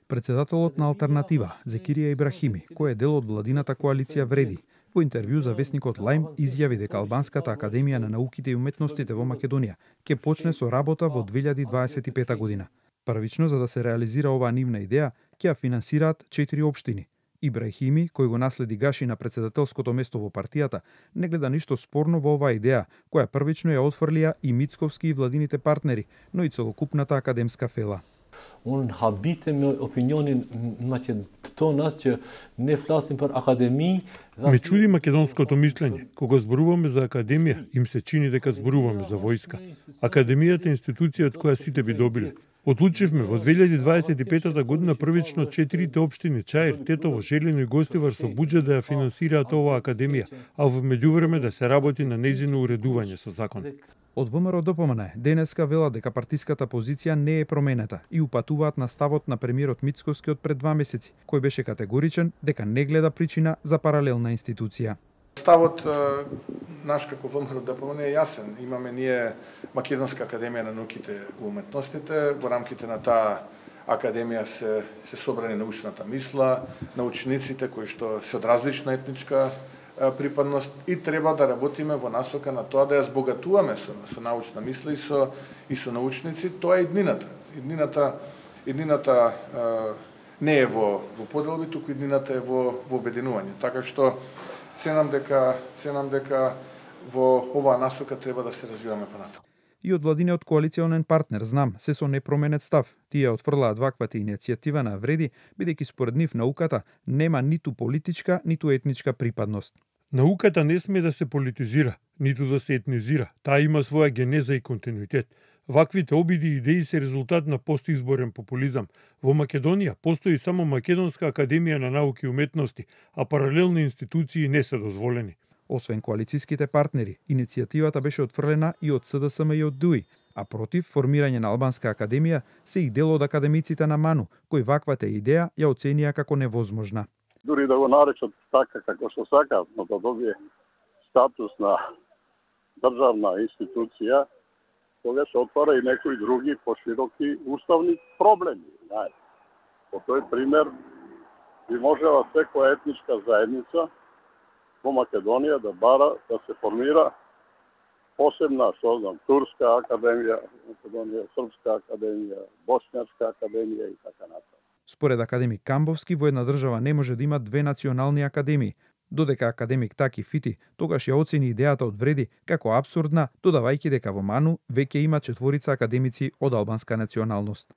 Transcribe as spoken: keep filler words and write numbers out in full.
Председателот на Алтернатива, Зекирија Ибрахими, кој е дел од владината коалиција Вреди, во интервју за весникот Лајм изјави дека Албанската академија на науките и уметностите во Македонија ќе почне со работа во две илјади дваесет и пета година. Првично, за да се реализира оваа нивна идеја, ќе ја финансираат четири општини. Ибрахими, кој го наследи Гаши на председателското место во партијата, не гледа ништо спорно во оваа идеја, која првично ја отфрлија и Мицковски и владините партнери, но и целокупната академска фела. Unë habite me opinionin maqedonas që ne flasim për akademi. Ме чуди македонското мислење. Кога зборуваме за академија, им се чини дека зборуваме за војска. Академијата е институција од која сите би добиле. Одлучивме во две илјади дваесет и пета година првично четирите општини Чаир, Тетово, Желино и Гостивар со буџет да ја финансираат оваа академија, а во меѓувреме да се работи на нејзино уредување со закон. Од ВМРО Д П М Н денеска велат дека партиската позиција не е променета и упатуваат на ставот на премиерот Мицковски од пред два месеци, кој беше категоричен дека не гледа причина за паралелна институција. Ставот наш како ВМРО Д П М Н е јасен. Имаме ние Македонска академија на науките и уметностите, во рамките на таа академија се се собрани научната мисла, научниците кои што се од различна етничка припадност и треба да работиме во насока на тоа да ја збогатуваме со, со научна мисла и со и со научници. Тоа е иднината. Иднината иднината не е во во поделби, туку иднината е во во обединување. Така што ценам дека ценам дека во оваа насока треба да се развиваме понатаму. И од владиниот коалиционен партнер знам се со непроменет став. Тие отфрлаат ваквата иницијатива на Вреди, бидејќи според нив науката нема ниту политичка, ниту етничка припадност. Науката не сме да се политизира, ниту да се етнизира. Таа има своја генеза и континуитет. Ваквите обиди и идеи се резултат на постизборен популизам. Во Македонија постои само Македонска академија на науки и уметности, а паралелни институции не се дозволени. Освен коалициските партнери, иницијативата беше отфрлена и од С Д С М и од Д У И, а против формирање на Албанска академија се и дел од академиците на МАНУ, кои ваквата идеја ја оценија како невозможна. Дури да го наречат така како што сакаат, но да добие статус на државна институција, тогаш отвара и некои други пошироки уставни проблеми. По тој пример би можела секоја етничка заедница во Македонија да бара да се формира посебна, што знам, турска академија, Македонија, српска академија, боснјачка академија и така натаму. Според академик Камбовски, во една држава не може да има две национални академии. Додека академик Таки Фити тогаш ја оцени идејата од Вреди како апсурдна, додавајќи дека во МАНУ веќе има четворица академици од албанска националност.